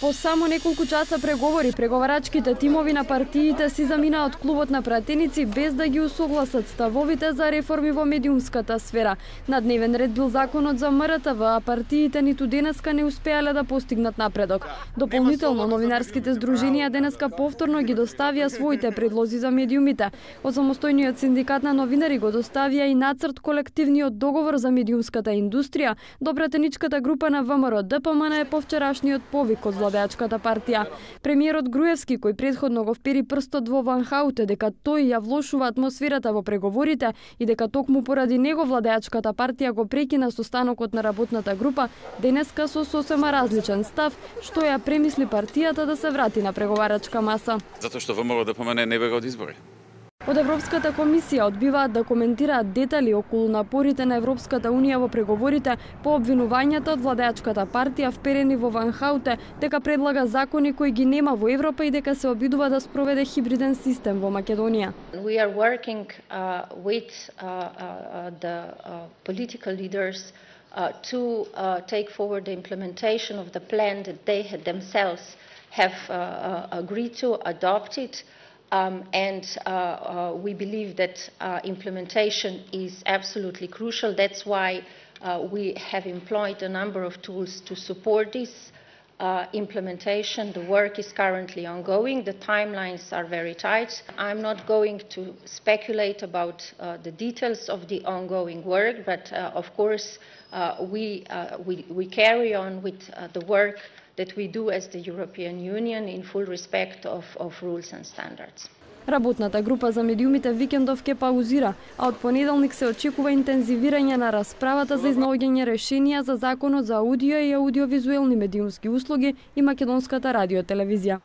По само неколку часа преговори, преговарачките тимови на партиите си заминаа од клубот на пратеници без да ги усогласат ставовите за реформи во медиумската сфера. На дневен ред бил законот за МРТВ, а партиите ниту денеска не успеале да постигнат напредок. Дополнително, новинарските здруженија денеска повторно ги доставија своите предлози за медиумите. Од самостојниот синдикат на новинари го доставија и нацрт колективниот договор за медиумската индустрија до пратеничката група на ВМРО ДПМН е повчерашниот повик од владеачката партија. Премиерот Груевски, кој претходно го впери прстот во Ван Хауте дека тој ја влошува атмосферата во преговорите и дека токму поради него владеачката партија го прекина состанокот на работната група, денеска со сосема различен став, што ја премисли партијата да се врати на преговарачка маса. Затоа што ВМРО ДПМН не бега од избори. Од Европската комисија одбиваат да коментираат детали околу напорите на Европската унија во преговорите по обвинувањата од владеачката партија вперени во Ван Хауте дека предлага закони кои ги нема во Европа и дека се обидува да спроведе хибриден систем во Македонија. We are working with the political leaders to take forward the implementation of the plan that they had themselves have agreed to, adopted. We believe that implementation is absolutely crucial. That's why we have employed a number of tools to support this implementation. The work is currently ongoing. The timelines are very tight. I'm not going to speculate about the details of the ongoing work, but of course we carry on with the work that we do as the European Union in full respect of rules and standards. Работната група за медиумите викендов ке паузира, а од понеделник се очекува интензивирање на расправата за изнаоѓање решенија за законот за аудио и аудиовизуелни медиумски услуги и македонската радиотелевизија.